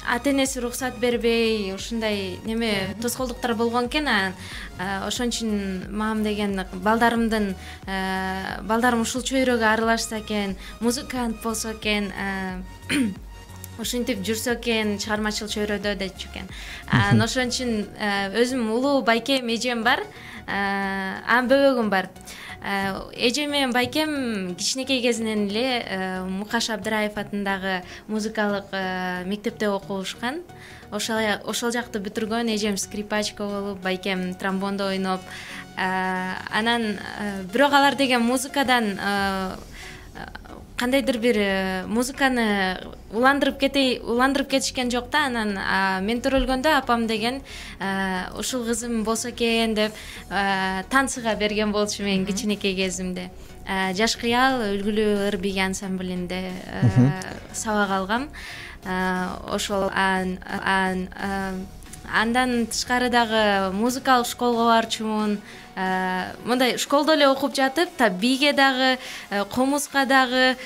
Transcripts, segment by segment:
ата-энеси уруксат бербей ушундай неме тоскоолдуктар болгон экен. Ошон үчүн мамам деген балдарым ушул чөйрөгө аралашса экен, музыкант болсо экен, ушинтип жүрсө экен чыгармачыл чөйрөдө депчү экен. Ошон үчүн өзүм улуу байкем, эжем бар, анын бөбөгүм бар. Эжем менен байкем кичинекей кезинен эле Мукаш Абдыраев атындагы музыкалык мектепте окушкан. Ошол жакты бүтүргөн. Эжем скрипачка болуп, байкем тромбондо ойноп. Анан бирок алар деген музыкадан кандайдыр бир музыканы уландырып кетишкен жок да. Анан мен төрөлгөндө апам деген ушул кызым болсо экен деп танцыга берген болчу мен кичинекей кезимде. Жаш кыял үлгүлүү ыр биги ансамблинде сабак алгам. Ошол андан тышкары дагы музыкалык школго барчумун. Мындай школдо эле окуп жатып, биге дагы, комузга дагы,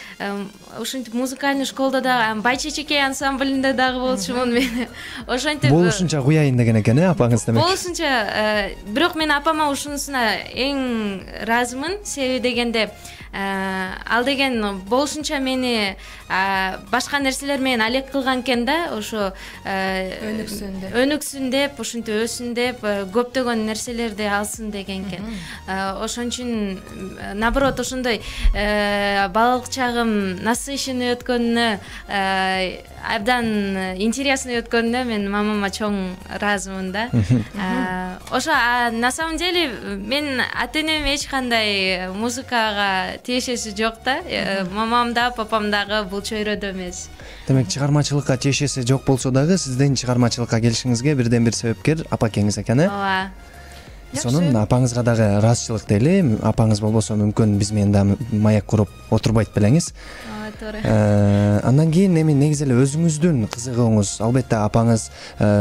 ушинтип музыкальный школдо дагы, Байчечекей ансамблинде дагы болчумун мен. Ошентип болушунча куяйын деген экен, апаңыз демек. Болушунча, бирок мен апама ушунусуна эң ыраазымын. Себеби дегенде, ал деген болушунча мени башка нерселер менен алек кылган экен да, ошо өнүксүн деп, ушинтип өссүн деп, көптөгөн нерселерди алсын деген экен. Ошон үчүн наоборот ошондой балалык чагым насыщенный өткөнүнө, абдан интересный өткөнүнө мен мамама чоң ыраазымын да. Ошо на самом деле мен ата-энем эч кандай музыкага тиешеси жок да. Мамам да, папам дагы бул чөйрөдө эмес. Демек, чыгармачылыкка тиешеси жок болсо дагы сиздин чыгармачылыкка келишиңизге бирден бир себепкер апакеңиз экен, Ооба. Сонун апаңызга дагы ыраазычылык дейли. Апаңыз болбосо мүмкүн биз менен да маяк куруп отурбайт белеңиз. Туура. Андан кийин эми негизи эле өзүңүздүн кызыгууңуз, албетте апаңыз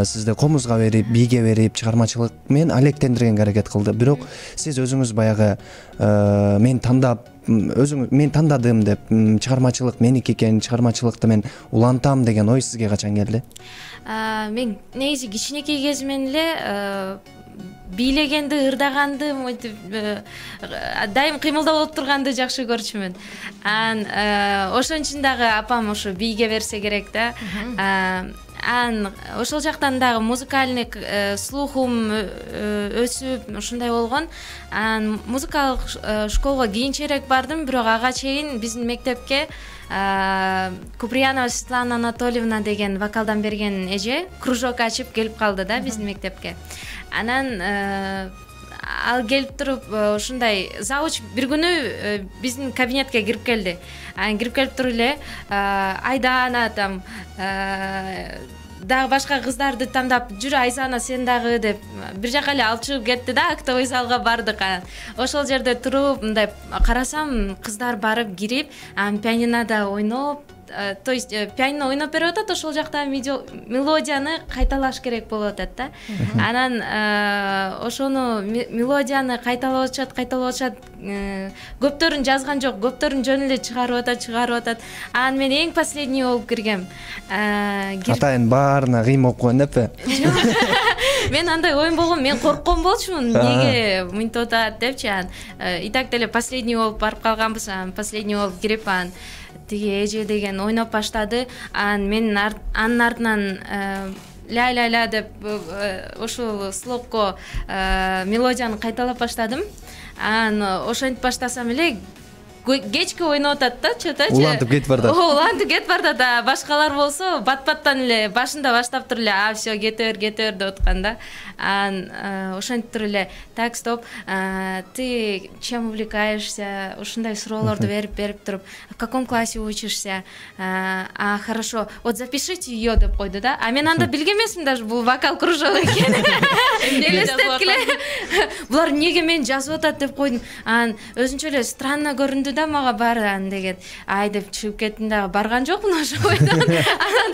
сизди комузга берип, бийге берип, чыгармачылык менен алектендиргенге аракет кылды. Бирок сиз өзүңүз баягы мен тандадым деп, чыгармачылык меники экен, чыгармачылыкты мен улантам деген ой сизге качан келди? Мен негизи кичинекей кезимден эле бийлегенди, ырдаганды, мынтип дайым кыймылда болуп турганды жакшы көрчүмүн. Ошон үчүн дагы апам ошо бийге берсе керек да. Ошол жактан дагы музыкальный слухум өсүп, ушундай болгон. Музыкалык школго кийинчерээк бардым, бирок ага чейин биздин мектепке Куприянова Светлана Анатольевна деген вокалдан берген эже кружок ачып келип калды да биздин мектепке. Анан ал келип туруп ушундай завуч бир күнү биздин кабинетке кирип келди. Кирип келип туруп эле Айдана там дагы башка кыздарды тандап, жүрө Айзана сен дагы деп бир жака эле алып чыгып кетти да, актовый залга бардык. Ошол жерде туруп мындай карасам, кыздар барып кирип, пианинода ойноп, то есть пианино ойноп берип атат, ошол жакта мелодияны кайталаш керек болуп атат да. Анан ошону мелодияны кайталап атышат, көптөрүн жазган жок, көптөрүн жөн эле чыгарып атат. Анан мен эң последний болуп киргем. Атайын баарына кыйм болуп койгон деппи? Мен андай оюм болгон, мен корккон болчумун, эмнеге мынтип атат депчи. И так деле последний болуп барып калганбыз, последний болуп кирип тиги эже деген ойноп баштады. Мен анын артынан ля-ля-ля деп ошол слогко мелодияны кайталап баштадым. Ошентип баштасам эле кечки ойноп атат да, чөтөчү. Улантып кетип бардат. Улантып кетип бардат. Башкалар болсо бат-баттан эле башында баштап туруп эле всё кетер деп аткан да. Ошентип туруп эле так, стоп, ты чем увлекаешься? Ушундай суроолорду берип туруп, в каком классе учишься? Хорошо, вот запишите её деп койду да. Мен анда билген эмесмин даже бул вокал кружок экенин. Элестеткиле. Булар эмнеге мени жазып атат деп койдум. Өзүнчө эле странно көрүндү көрдү да мага бар деген ай деп чыгып кеттим дагы барган жокмун ошо бойдон. Анан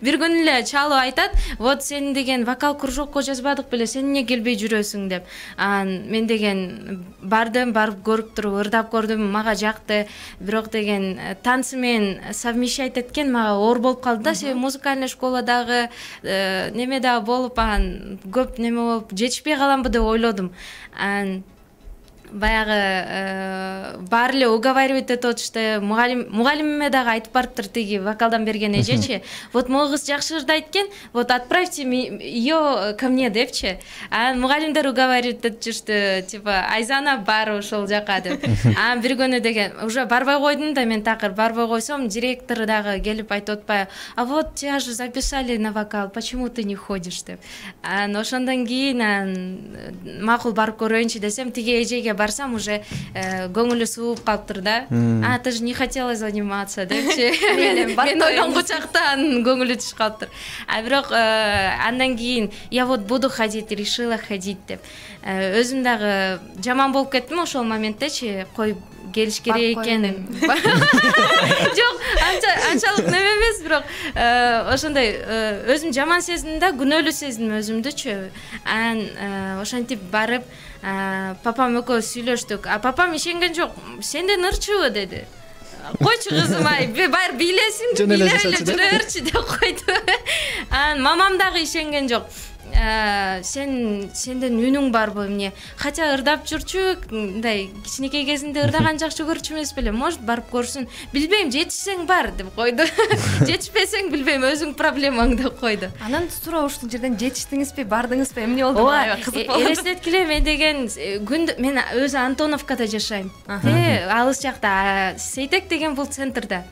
бир күнү эле чалып айтат, вот сени деген вокал кружокко жазбадык беле, сен эмне келбей жүрөсүң деп. Анан мен деген бардым, барып көрүп туруп ырдап көрдүм, мага жакты. Бирок деген танцы менен совмещать эткен мага оор болуп калды да, себеби музыкальный школадагы неме дагы болуп, анан көп неме болуп жетишпей каламбы деп ойлодум. Анан баягы баары эле уговаривать этип атышты. Мугалимиме дагы айтып барыптыр тиги вокалдан берген эжечи. Вот могу кыз жакшы ырдайт экен, вот отправьте ее ко мне депчи. Анан мугалимдер уговаривать этип жүрүштү, типа Айзана бар ошол жака деп. Анан бир күнү деген уже барбай койдум да, мен такыр барбай койсом, директор дагы келип айтып атпайбы, а вот тебя же записали на вокал, почему ты не ходишь деп. Анан ошондон кийин макул барып көрөйүнчү десем, тиги эжеге барсам уже көңүлү сууп калыптыр да. А ты же не хотела заниматься депчи. Мен ойлонгучакта анын көңүлү түшүп калыптыр. А бирок андан кийин я вот буду ходить, решила ходить деп. Өзүм дагы жаман болуп кеттим ошол моменттечи, кой келиш керек экен. Жок, анчалык неме эмес, бирок ошондой өзүм жаман сездим да, күнөөлүү сездим өзүмдүчү. Анан ошентип барып папам экөөбүз сүйлөштүк. А папам ишенген жок. Сенден ырчыбы деди. Койчу кызым, ай, баары бийлесин, жүрө берчи деп койду. Анан мамам дагы ишенген жок. Сенден үнүң барбы эмне? Хотя ырдап жүрчү, мындай кичинекей кезинде ырдаган жакшы көрчү эмес беле? Может барып көрсүн. Билбейм, жетишсең бар деп койду. Жетишпесең билбейм, өзүң проблемаң деп койду. Анан тура ушул жерден жетиштиңизби, бардыңызбы, эмне болду? Кызык болду. Элестеткиле, мен деген күндө мен өзү Антоновкада жашайм. Алыс жакта, Сейтек деген бул центрда.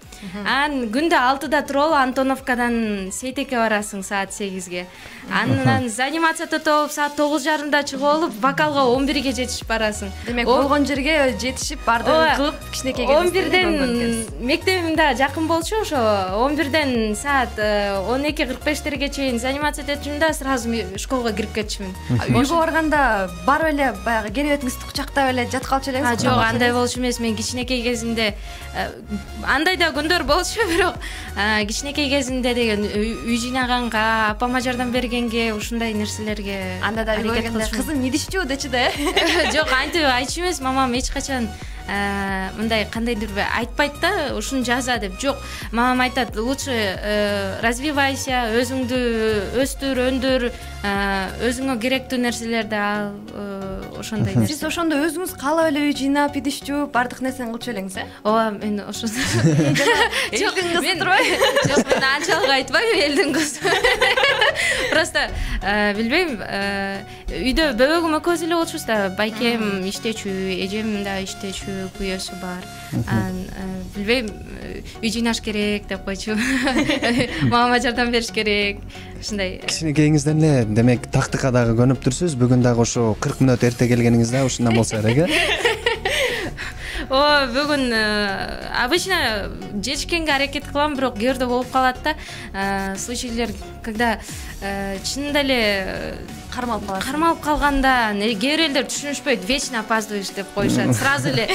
Анан күндө 6-да туруп Антоновкадан Сейтекке барасың саат 8-ге. Анан занимацияда топ саат 9:30-да чыгып алып, вокалга 11-ге жетишип барасың. Демек, болгон жерге жетишип бардыгын кылып, кичинекей кезинде 11ден мектебим да жакын болчу, ошо 11ден саат 12:45 чейин занимация этчүмүн да, сразу школго кирип кетчүмүн. Үйгө барганда барып эле баягы керебетиңизди кучактап эле жатып калчу элеңизби? Жок, андай болчу эмес. Мен кичинекей кезинде андай да күндөр болчу, бирок кичинекей кезинде деген үй жыйнаганга, апама жардам бергенге, ушундай нерселерге анда да көргөндө кызым идишчү дечи да. Жок, антип айтчу эмес, мамам эч качан мындай кандайдыр айтпайт да, ушуну жаза деп. Жок, мамам айтат, лучше развивайся, өзүңдү өстүр, өндүр, өзүңө керектүү нерселерди ал, ошондой нерсе. Сиз ошондо өзүңүз каалап эле үй жыйнап, идишчү, бардык нерсени кылчу элеңиз, э? Ооба, мен ошо. Жок, мен жок, мен анчалык айтпайм, элдин кызы. Просто билбейм, үйдө бөбөгүм экөөбүз эле болчубуз да, байкем иштечү, эжем да иштечү, күйөөсү бар. Билбейм, үй жыйнаш керек деп койчу. Мамама жардам бериш керек. Ушундай. Кичинекейиңизден эле, демек, тактыкка дагы көнүп турсуз. Бүгүн дагы ошо 40 мүнөт эрте келгениңиз да ушундан болсо керек, э? Бүгүн обычно жетишкенге аракет кылам, бирок кээ бирде болуп калат да. Случайлар, когда чынында эле кармалып калганда, кээ бир элдер түшүнүшпөйт, вечно опаздываешь деп коюшат. Сразу эле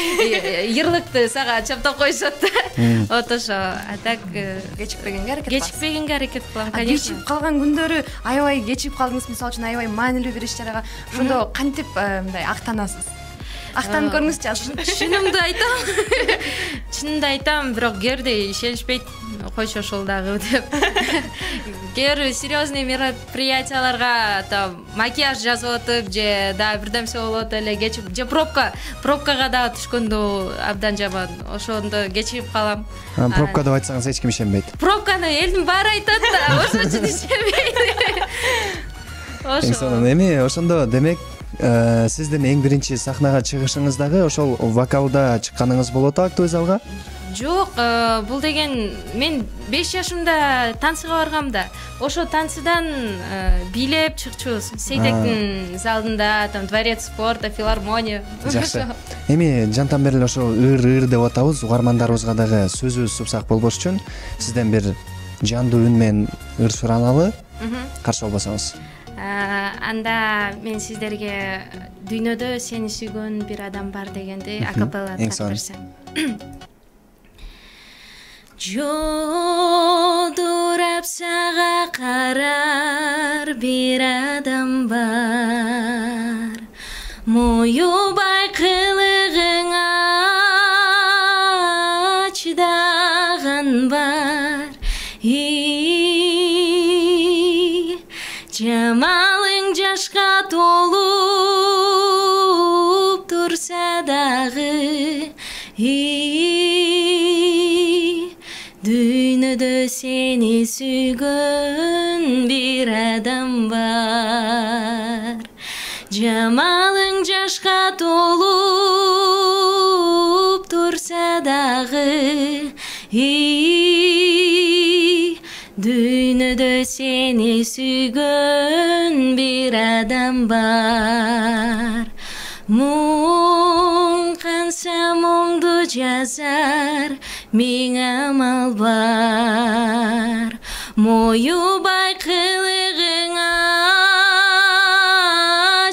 ярлыкты сага чаптап коюшат да. Вот ошо. А так кечикпегенге аракет кылам, конечно. Кечип калган күндөрү аябай кечип калдыңыз, мисалы үчүн аябай маанилүү бир иш-чарага. Ошондо кантип мындай актанасыз? Актанып көрүңүзчү. Чынымды айтам, бирок кээ бирде ишенишпейт, койчу ошол дагы деп. Кээ бир серьезный мероприятияларга там макияж жазып атып, же да бирдемсе болот эле, кечип, же пробкага дагы түшкөндө абдан жаман. Ошондо кечирип калам. Пробка деп айтсаңыз эч ким ишенбейт. Пробканы элдин баары айтат да, ошон үчүн ишенбейт. Ошо. Эми ошондо демек сиздин эң биринчи сахнага чыгышыңыз дагы ошол вокалда чыкканыңыз болот актовый залга? Жок, бул деген мен 5 жашымда танцыга баргам да. Ошо танцыдан бийлеп чыкчубуз. Сейтектин залында, там дворец спорта, филармония. Жакшы. Эми жантан бери ошо ыр деп атабыз, угармандарыбызга дагы сөзүбүз супсак болбош үчүн сизден бир жандуу үн менен ыр сураналы. Каршы болбосоңуз. Анда мен сиздерге дүйнөдө сени сүйгөн бир адам бар дегенди акапелла тартып берсем. Жолдурап сага карар бир адам бар, моюбай кылыгыңа чыдаган бар. Жамалың жашка толуп турса дагы, дүйнөдө сени сүйгөн бир адам бар. Жамалың жашка толуп турса дагы, дүйнөдө сени сүйгөн бир адам бар. Муң канса муңду жазар, миң амал бар. Моюбай кылыгыңа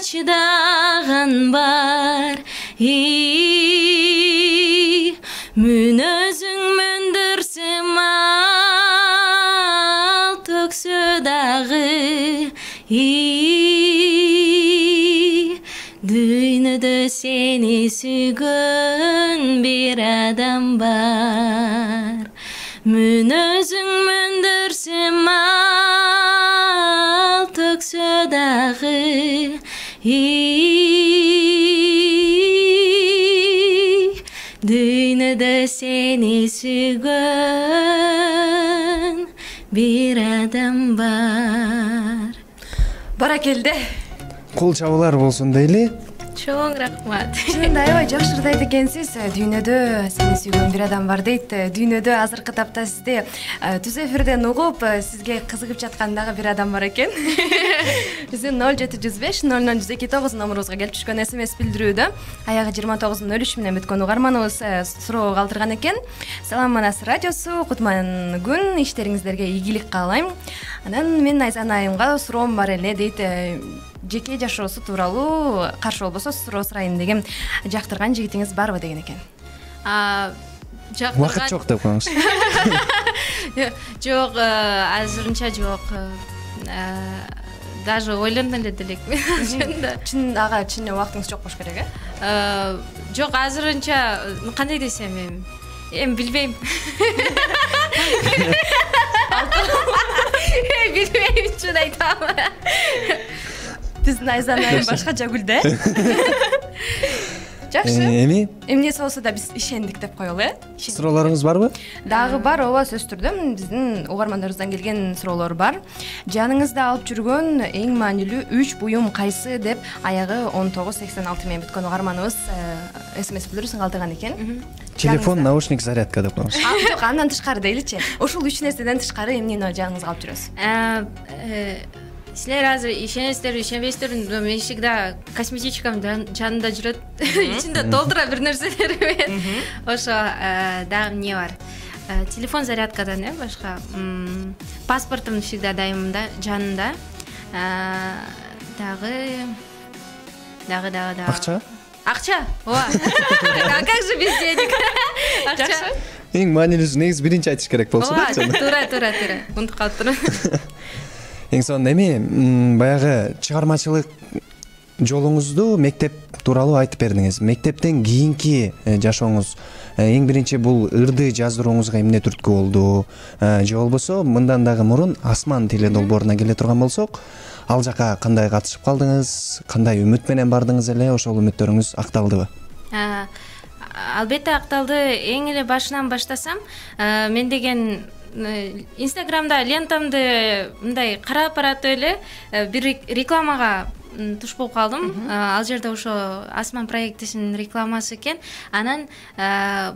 чыдаган бар. Мүнөзүң мөндүрсө мал төксө дагы, дүйнөдө сени сүйгөн бир адам бар. Мүнөзүң мөндүрсө мал төксө дагы, дүйнөдө сени сүйгөн бир адам бар. Баракелде. Кол чабуулар болсун дейли. Чоң рахмат. Чынында аябай жакшы ырды айт экенсиз. Дүйнөдө сени сүйгөн бир адам бар дейт. Дүйнөдө азыркы тапта сизди түз эфирден угуп, сизге кызыгып жаткан дагы бир адам бар экен. Биздин 0705-00129 номурубузга келип түшкөн SMS билдирүүдө аягы 2903 менен бүткөн угарманыбыз суроо калтырган экен. Салам Манас радиосу, кутман күн, иштериңиздерге ийгилик каалайм. Анан мен Айзан айымга суроом бар эле дейт. Жеке жашоосу тууралуу каршы болбосо суроо сурайын дегем. Жактырган жигитиңиз барбы деген экен. Убакыт жок деп коюңуз. Жок, азырынча жок. Даже ойлондон эле элекмин. Чын ага чын убактыңыз жок болуш керек, Жок, азырынча кандай десем, эми билбейм. Билбейм, чын айтам. Биздин Айзан айым башкача күлдү. Жакшы. Эмне болсо да биз ишендик деп коелу, Суроолоруңуз барбы? Дагы бар, ооба, сөзсүз түрдө биздин угармандарыбыздан келген суроолор бар. Жаныңызда алып жүргөн эң маанилүү 3 буюм кайсы деп аягы 1986 менен бүткөн угарманыбыз SMS билдирүүсүн калтырган экен. Телефон, наушник, зарядка деп коюңуз. Жок, андан тышкары дейличи. Ушул 3 нерседен тышкары эмнени жаныңызга алып жүрөсүз? Силер азыр ишенесиздерби, ишенбейсиздерби, мен всегда косметичкам жанында жүрөт. Ичинде толтура бир нерселермен. Ошо дагы эмне бар? Телефон зарядкадан, башка. Паспортум всегда дайымда, жанында. Дагы. Акча? Акча? Ооба. А как же без денег? Акча. Эң маанилүүсү негизи биринчи айтыш керек болчу да. Туура. Унутуп калыптырмын. Эң сонун эми баягы чыгармачылык жолуңузду мектеп тууралуу айтып бердиңиз. Мектептен кийинки жашооңуз эң биринчи бул ырды жаздырууңузга эмне түрткү болду? Же болбосо мындан дагы мурун Асман тили долбооруна келе турган болсок, ал жака кандай катышып калдыңыз? Кандай үмүт менен бардыңыз эле? Ошол үмүттөрүңүз акталдыбы? Албетте акталды. Эң эле башынан баштасам, мен деген Инстаграмда лентамды мындай карап баратып эле бир рекламага туш болуп калдым. Ал жерде ошо Асман проектисинин рекламасы экен. Анан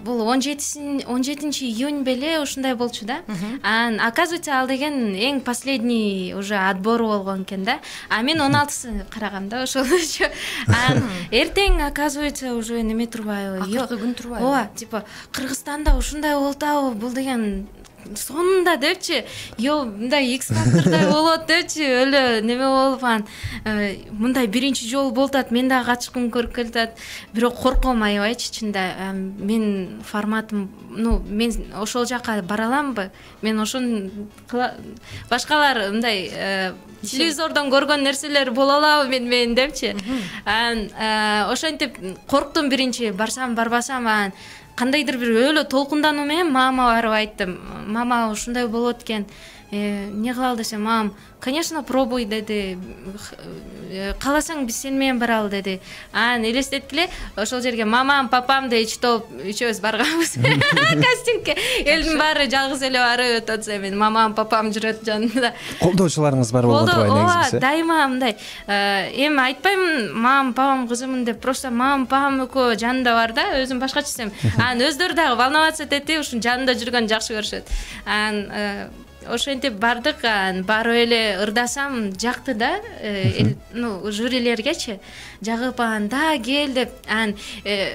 бул 17 июнь беле ушундай болчу да. Анан оказывается ал деген эң последний уже отбор болгон экен да. А мен 16сы карагам да ошол. Анан эртең оказывается уже неме турбайбы? Акыркы күн турбайбы? Ооба, типа Кыргызстанда ушундай болуп атабы? Бул деген сонунда депчи мындай X фактордой болот депчи өлө неме болуп анан мындай биринчи жолу болуп атат, мен дагы катышкым көрүп келатат, бирок корком аябайчы чында. Мен форматым, мен ошол жака бара аламбы, мен ошону башкалар мындай телевизордон көргөн нерселер боло алабы мен депчи. Анан ошентип корктум биринчи, барсам барбасам, анан кандайдыр бир өлө толкундануу менен мамама барып айттым. Мама ушундай болот экен, эмне кылалы десем, мамам конечно пробуй деди, кааласаң биз сени менен баралы деди. Анан элестеткиле, ошол жерге мамам, папам да үчөөбүз барганбыз кастингке. Элдин баары жалгыз эле барып өтүп атса, мен мамам, папам жүрөт жанында. Колдоочуларыңыз бар болуп атпайбы негизгиси? Дайыма мындай. Эми айтпаймын мамам, папам кызымын деп, просто мамам, папам экөө жанында бар да, өзүм башкача эсем. Анан өздөрү дагы волноваться этти, ушун жанында жүргөн жакшы көрүшөт. Анан ошентип бардык, барып эле ырдасам жакты да, жюрилергечи жагып, анан да кел деп. Анан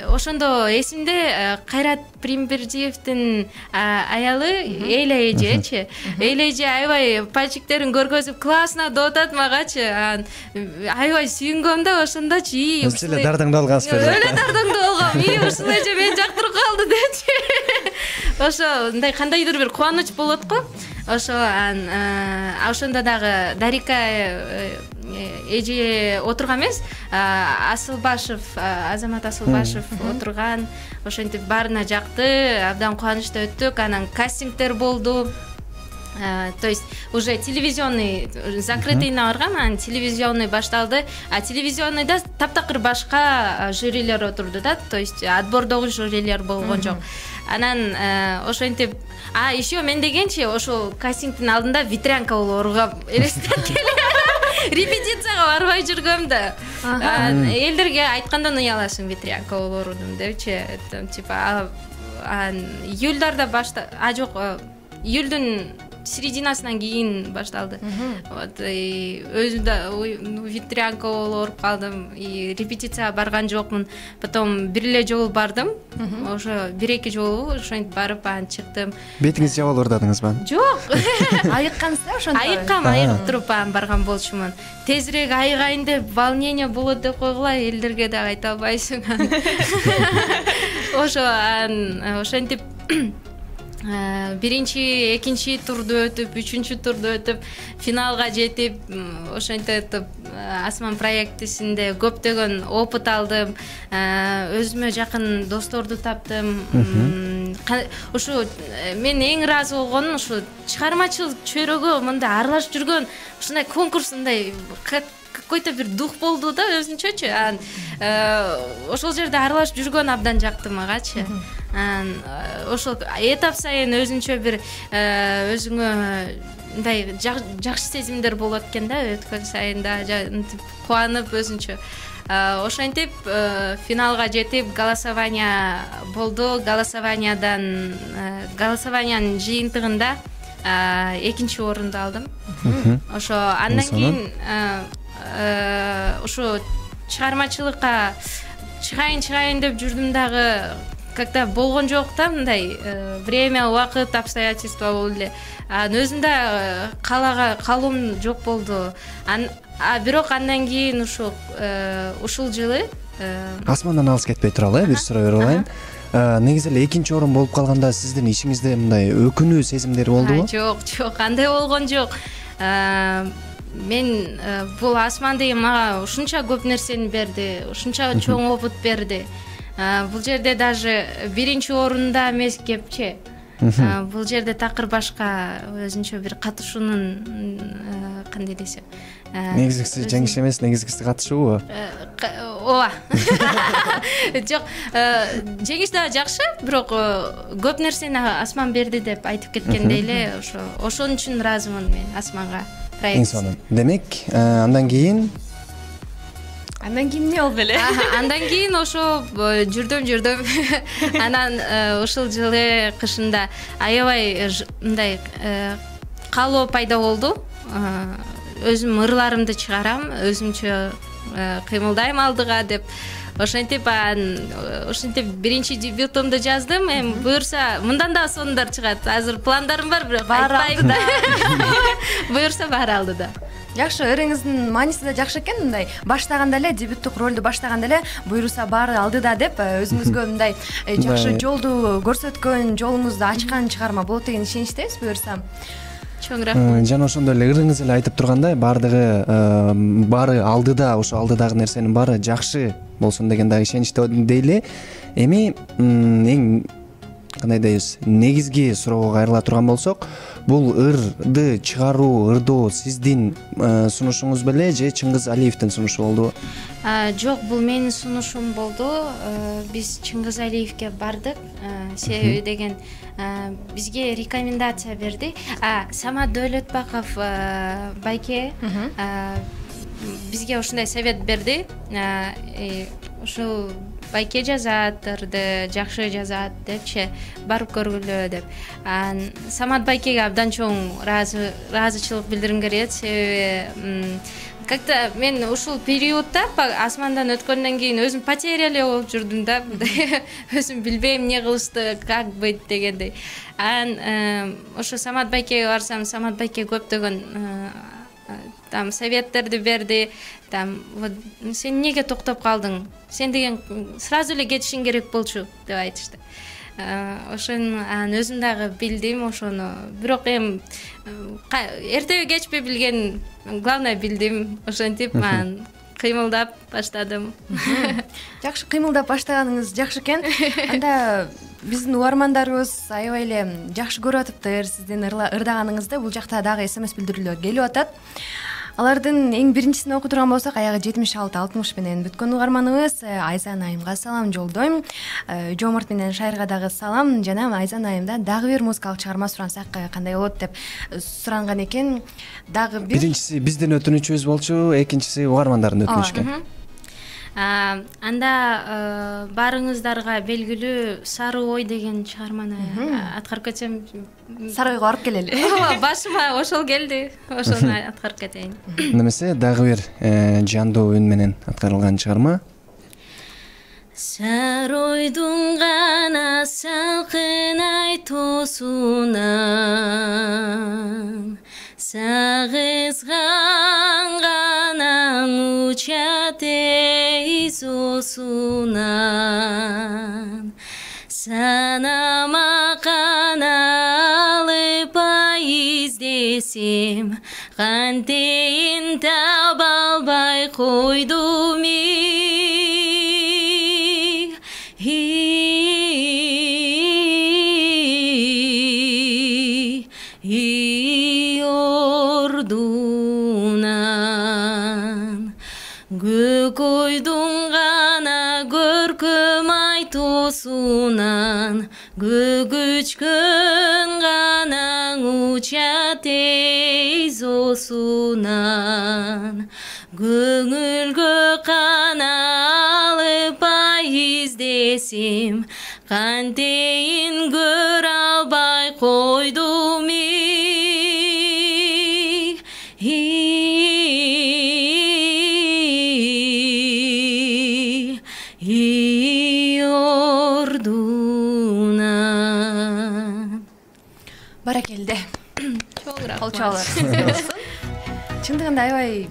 ошондо эсимде Кайрат Примбердиевдин аялы Эйля эжечи. Эйля эже аябай пальчиктерин көргөзүп классно деп атат магачы. Анан аябай сүйүнгөм да ошондочу. Өзү эле дардаңдап алгансызбы? Өлө дардаңдап алгам. Ушул эже мени жактырып калды депчи. Ошо мындай кандайдыр бир кубаныч болот го. Ошо ошондо дагы Дарика эже отурган эмес, Асылбашев, Азамат Асылбашев отурган. Ошентип баарына жакты, абдан кубанычта өттүк. Анан кастингдер болду. То есть уже телевизионный закрытыйына баргам, анан телевизионный башталды. Телевизионныйда таптакыр башка жюрилер отурду да, то есть отбордогу жюрилер болгон жок. Анан ошентип, еще мен дегенчи ошол кастингдин алдында ветрянка болуп ооругам элестеткеле. Репетицияга барбай жүргөм да. Элдерге айткандан уяласың ветрянка болуп оорудум депчи. Типа июльдарда жок, июльдүн серединасынан кийин башталды. Вот өзүм да ветрянка болуп ооруп калдым. Репетицияга барган жокмун. Потом бир эле жолу бардым. Ошо 1-2 жолу ошентип барып анан чыктым. Бетиңиз жабылып ырдадыңызбы? Жок. Айыккансыз ошондо? Айыгып туруп барган болчумун. Тезирээк айыгайын деп, волнение болот деп койгула, элдерге да айта албайсың. Ошентип биринчи, экинчи турду өтүп, үчүнчү турду өтүп, финалга жетип, ошентип Асман проектисинде көптөгөн опыт алдым, өзүмө жакын досторду таптым. Ушу мен эң ыраазы болгонум ушу чыгармачылык чөйрөгө мындай аралашып жүргөн ушундай конкурс, мындай какой-то бир дух болду да өзүнчөчү. Ошол жерде аралашып жүргөн абдан жакты магачы. Ошол этап сайын өзүнчө бир өзүңө мындай жакшы сезимдер болот экен да, өткөн сайын да кубанып өзүнчө. Ошентип финалга жетип голосование болду. Голосованиянын жыйынтыгында экинчи орунду алдым. Ошо андан кийин ушу чыгармачылыкка чыгайын деп жүрдүм дагы, как-то болгон жок да, мындай время, убакыт, обстоятельства болду эле. Өзүм да калуум жок болду. Бирок андан кийин ушул жылы Асмандан алыс кетпей туралы, бир суроо берип алайын. Негизи эле экинчи орун болуп калганда сиздин ичиңизде мындай өкүнүү сезимдери болдубу? Жок, андай болгон жок. Мен бул Асман деген мага ушунча көп нерсени берди, ушунча чоң опыт берди. Бул жерде даже биринчи орунда эмес кепчи. Бул жерде такыр башка өзүнчө бир катышуунун кандай десем, негизгиси жеңиш эмес, негизгиси катышуубу? Ооба. Жок, жеңиш да жакшы, бирок көп нерсени Асман берди деп айтып кеткендей эле, ошон үчүн ыраазымын мен Асманга. Эң сонун. Демек, андан кийин эмне болду эле? Андан кийин ошо жүрдүм. Анан ушул жылы кышында аябай мындай каалоо пайда болду. Өзүм ырларымды чыгарам, өзүмчө кыймылдайм алдыга деп. ошентип ошентип биринчи дебютумду жаздым. Эми буюрса мындан да сонундар чыгат. Азыр пландарым бар, бирок айтпайм да. Буюрса баары алдыда. Жакшы, ырыңыздын мааниси да жакшы экен. Мындай баштаганда эле, дебюттук ролду баштаганда эле буюрса баары алдыда деп өзүңүзгө мындай жакшы жолду көрсөткөн, жолуңузду ачкан чыгарма болот деген ишеничтебиз буюрса. Чоң рахмат. Жана ошондой эле ырыңыз эле айтып тургандай, баары алдыда, ошо алдыдагы нерсенин баары жакшы болсун деген дагы ишеничте дейли. Эми эң кандай дейбиз, негизги суроого кайрыла турган болсок, бул ырды чыгаруу, ырдоо сиздин сунушуңуз беле же Чыңгыз Алиевдин сунушу болдубу? Жок, бул менин сунушум болду. Биз Чыңгыз Алиевге бардык. Себеби деген бизге рекомендация берди. Самат Дөөлөтбаков байке бизге ушундай совет берди. Ушул байке жазат, ырды жакшы жазат депчи, барып көргүлө деп. Самат байкеге абдан чоң ыраазычылык билдиргим келет. Себеби как-то мен ушул периодда асмандан өткөндөн кийин өзүм потерялый болуп жүрдүм да. Өзүм билбейм эмне кылышты, как быть дегендей. Ошо Самат байкеге барсам, Самат байке көптөгөн там советтерди берди. Там вот сен эмнеге токтоп калдың? Сен деген сразу эле кетишиң керек болчу деп айтышты. Ошону өзүм дагы билдим ошону. Бирок эми эртеби кечпи билген, главное билдим. Ошентип кыймылдап баштадым. Жакшы кыймылдап баштаганыңыз жакшы экен. Анда биздин угармандарыбыз аябай эле жакшы көрүп атыптыр сиздин ырдаганыңызды. Бул жакта дагы СМС билдирүүлөр келип атат. Алардын эң биринчисин окуп турган болсок, аягы 76-60 менен бүткөн угарманыбыз Айзан айымга салам жолдойм. Жомарт менен Шайырга дагы салам. Жана Айзан айымдан дагы бир музыкалык чыгарма сурансак кандай болот деп суранган экен. Дагы бир биринчиси биздин өтүнүчүбүз болчу, экинчиси угармандардын өтүнүчү экен. Анда баарыңыздарга белгилүү Сары ой деген чыгарманы аткарып кетсем. Сары ойго барып келели. Башыма ошол келди. Ошону аткарып кетейин. Немесе дагы бир жандуу үн менен аткарылган чыгарма. Сары ойдун гана салкын ай тоосунан сагызган гана учат эйзосунан санама каналып издесем кантейин таба албай койдум ордунан көкөйдүн гана көркөм ай тоосунан көгүчкөн гана учат эйзосунан көңүлгө каналып издесем кантейин көрө албай койдум ордунан. Баракелде. Чоң рахмат. Колчоолор сизге болсун. Чындыгында аябай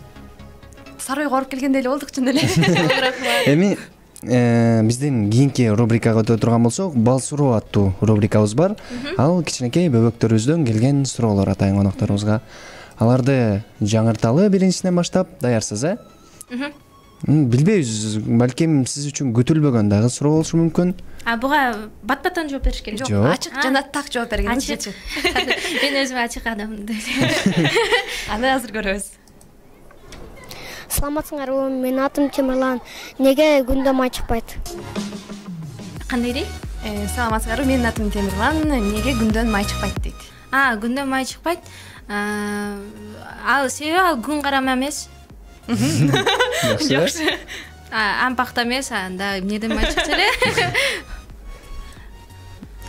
Сары ойго барып келгендей эле болдук чын эле. Чоң рахмат. Эми биздин кийинки рубрикага өтө турган болсок, Бал суроо аттуу рубрикабыз бар. Ал кичинекей бөбөктөрүбүздөн келген суроолор атайын конокторубузга. Аларды жаңырталы биринчисинен баштап, даярсыз, Билбейбиз, балким сиз үчүн күтүлбөгөн дагы суроо болушу мүмкүн. Буга бат-баттан жооп бериш керек. Жок, ачык жана так жооп бергениңиз жетчү. Мен өзүм ачык адаммын. Аны азыр көрөбүз. Саламатсыңарбы, менин атым Темирлан. Неге күндө май чыкпайт? Кандай дейт? Саламатсыңарбы, менин атым Темирлан. Неге күндөн май чыкпайт дейт? Күндөн май чыкпайт. Ал себеби ал күн карама эмес. Жакшы. Ампакта эмес, анда эмнеден май чыкса эле.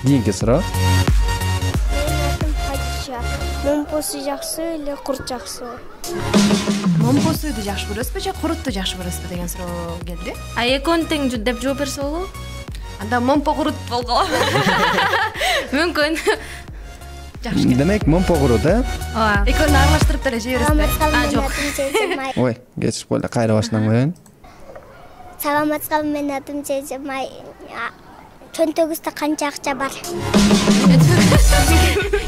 Кийинки суроо. Менин атым Хадижа. Момпосу жакшы эле, курт жакшы. момпо сууйду жакшы көрөсүзбү же курутту жакшы көрөсүзбү деген суроо келди. Экөөнү тең деп жооп берсе болобу? Анда момпо курут болгола. Мүмкүн. Жакшы. Демек момпо курут, Ооба. Экөөнү аралаштырып деле жей бересизби? Жок. Ой, кечип койду. Кайра башынан коеюн. Саламатсызбы, менин атым Жежемай. Чөнтөгүздө канча акча бар?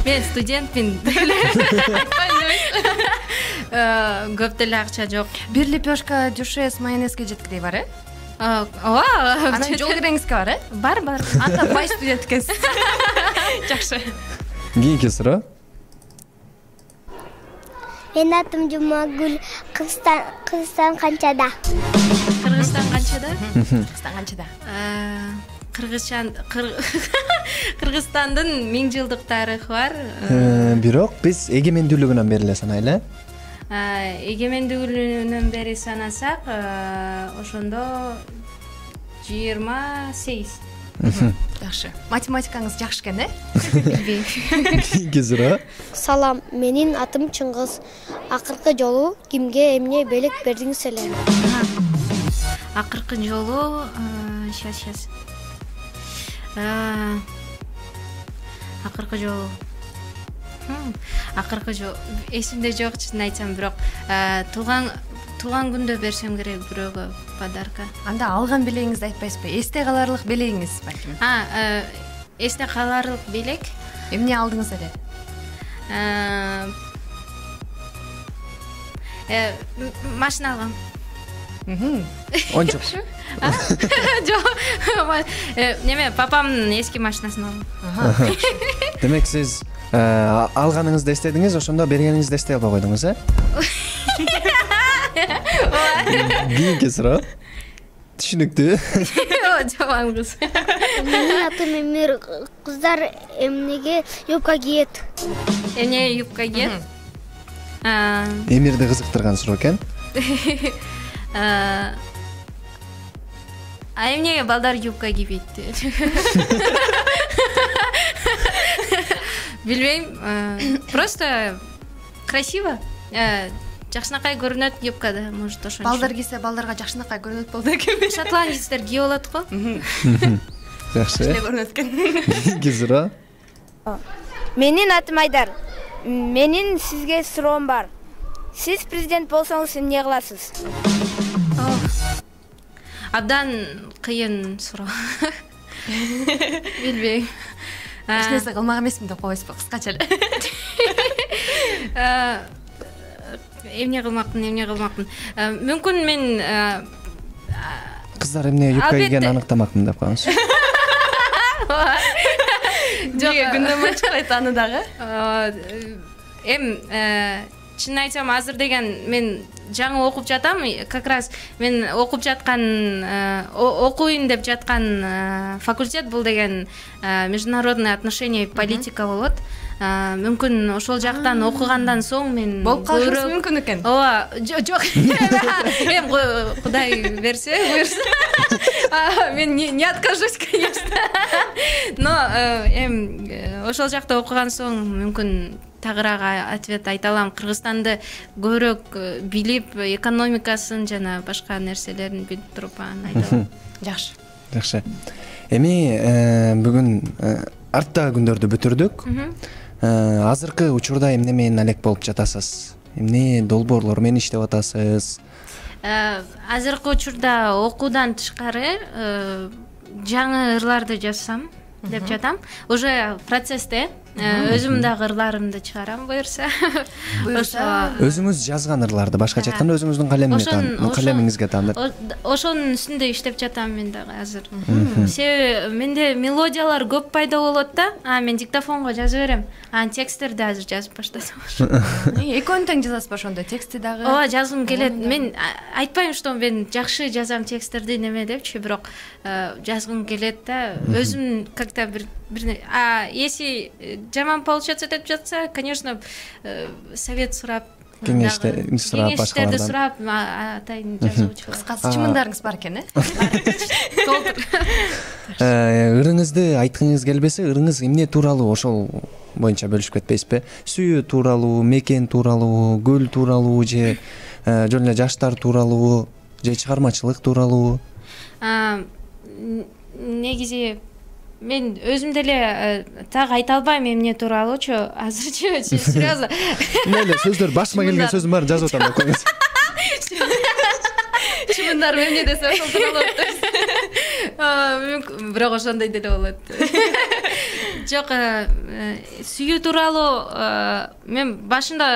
Мен студентмин. Көп деле акча жок. Бир лепешка дюше с майонезге жеткидей бар, Ооба. Анан жол киреңизге бар, Бар. Анда бай студент экенсиз. Жакшы. Кийинки суроо. Менин атым Жумагүл. Кыргызстан канчада? Кыргызстан канчада? Кыргызстан канчада? Кыргызстандын 1000 жылдык тарыхы бар. Бирок биз эгемендүүлүгүнөн бери эле санайлы. Эгемендүүлүгүнөн бери санасак, ошондо 28. Жакшы. Математикаңыз жакшы экен, Кийинки суроо. Салам, менин атым Чыңгыз. Акыркы жолу кимге эмне белек бердиңиз эле? Акыркы жолу сейчас. Акыркы жолу эсимде жок, чын айтсам, бирок туулган күндө берсем керек бирөөгө подарка. Анда алган белегиңизди айтпайсызбы? Эсте каларлык белегиңиз балким. Эсте каларлык белек. Эмне алдыңыз эле? Машина алгам. Ончук. Жок. Неме, папамдын эски машинасын алдым. Демек сиз алганыңызды эстедиңиз, ошондо бергениңизди эстей албай койдуңуз, Кийинки суроо. Түшүнүктүү. Жаман кыз. Менин атым Эмир. Кыздар эмнеге юбка кийет? Эмне юбка кийет? Эмирди кызыктырган суроо экен. Эмнеге балдар юбка кийбейт? Билбейм, просто красиво. Жакшынакай көрүнөт юбкада, может ошон. Балдар кийсе балдарга жакшынакай көрүнөт болду экенби? Шотландецтер кийип алат го. Жакшы. Көрүнөт экен. Кийинки суроо. Менин атым Айдар. Менин сизге суроом бар. Сиз президент болсоңуз эмне кыласыз? Абдан кыйын суроо. Билбейм. Эч нерсе кылмак эмесмин деп койсузбу, кыскача эле. Эмне кылмакмын. Мүмкүн мен Кыздар эмне юбка кийгенин аныктамакмын деп коюңуз. Жок, күндөмө чыкпайт аны дагы. Чын айтсам, азыр деген мен жаңы окуп жатам. Как раз мен окуп жаткан, окуйн деп жаткан факультет бул деген международные отношения и политика болот. Мүмкүн ошол жактан окугандан соң мен болуп калышыңыз мүмкүн экен. Ооба, жок. Эм Кудай берсе, буйрса. Мен не откажусь, конечно. Но ошол жакта окуган соң мүмкүн тагыраак ответ айта алам. Кыргызстанды көбүрөөк билип, экономикасын жана башка нерселерин билип туруп айта алам. Жакшы. Эми бүгүн арттагы күндөрдү бүтүрдүк. Азыркы учурда эмне менен алек болуп жатасыз? Эмне долбоорлор менен иштеп атасыз? Азыркы учурда окуудан тышкары жаңы ырларды жазсам деп жатам. Уже процессте. Өзүм дагы ырларымды чыгарам, буйрса. Өзүңүз жазган ырларды, башкача айтканда өзүңүздүн калемиңизге таандырып. Ошонун үстүндө иштеп жатам мен дагы азыр. Себеби менде мелодиялар көп пайда болот да. Мен диктофонго жазып берем. Тексттерди азыр жазып баштасам. Экөөнү тең жазасызбы ошондо? Тексти дагы? Ооба, жазгым келет. Мен айтпайм, что мен жакшы жазам тексттерди неме депчи, бирок жазгым келет да. Өзүм как-то бир если жаман получаться деп жатса, конечно, совет сурап, кеңештерди сурап, атайын жазуучулар. Кыскасы чымындарыңыз бар экен, Ырыңызды айткыңыз келбесе, ырыңыз эмне тууралуу ошол боюнча бөлүшүп кетпейсизби? Сүйүү тууралуу, мекен тууралуу, көл тууралуу же жөн эле жаштар тууралуу же чыгармачылык тууралуу? Негизи мен өзүм деле так айта албайм эмне тууралуучу азырчы, серьезно. Эле сөздөр башыма келген сөздүн баарын жазып атам, окуңуз. Чымындар эмне десе ошол тууралуу мүмкүн, бирок ошондой деле болот. Жок, сүйүү тууралуу мен башында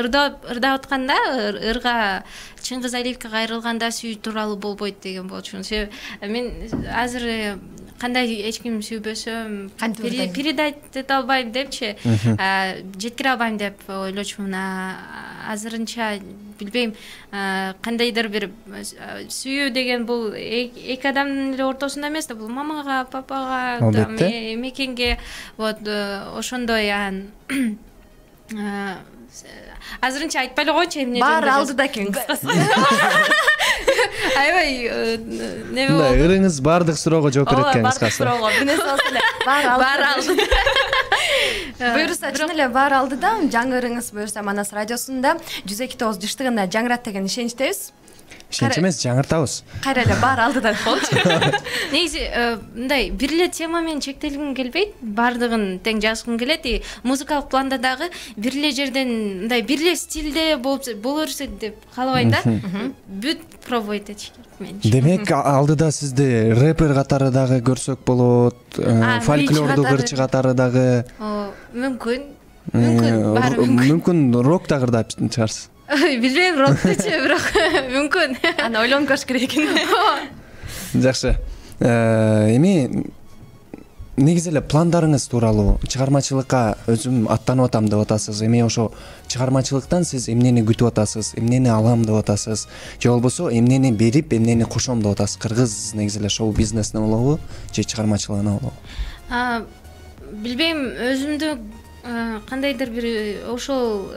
ырдап атканда, ырга Чыңгыз Алиевке кайрылганда сүйүү тууралуу болбойт деген болчумун. Себеби мен азыр кандай эч ким сүйбөсөм передать эте албайм депчи, жеткире албайм деп ойлочумун. Азырынча билбейм, кандайдыр бир сүйүү деген бул эки адамдын эле ортосунда эмес да, бул мамага, папага, мекенге, вот ошондой. Азырынча айтпай эле коечу эмне баары алдыда экен, кыскасы. Аябай неме болду. Ырыңыз баардык суроого жооп берет экен, кыскасы. Баардык суроого бир нерсе болсо эле баары алдыда. Буюрса чын эле баары алдыда. Жаңы ырыңыз буюрса Манас радиосунда 102.9 жыштыгында жаңырат деген ишеничтебиз. Ишенич эмес, жаңыртабыз. Кайра эле баары алдыда болчу. Негизи мындай бир эле тема менен чектелгим келбейт, баардыгын тең жазгым келет. Музыкалык планда дагы бир эле жерден мындай бир эле стилде боло берсе деп каалабайм да. Бүт пробовать этиш керек менчи. Демек алдыда сизди рэпер катары дагы көрсөк болот, фольклордук ырчы катары дагы. Мүмкүн баары мүмкүн. Мүмкүн рок дагы ырдап чыгарсыз. Билбейм, роктучу, бирок мүмкүн. Аны ойлонуп көрүш керек экен. Жакшы. Эми негизи эле пландарыңыз тууралуу, чыгармачылыкка өзүм аттанып атам деп атасыз. Эми ошо чыгармачылыктан сиз эмнени күтүп атасыз, эмнени алам деп атасыз, же болбосо эмнени берип, эмнени кошом деп атасыз? Кыргыз негизи эле шоу бизнесине болобу, же чыгармачылыгына болобу? Билбейм, өзүмдү кандайдыр бир ошол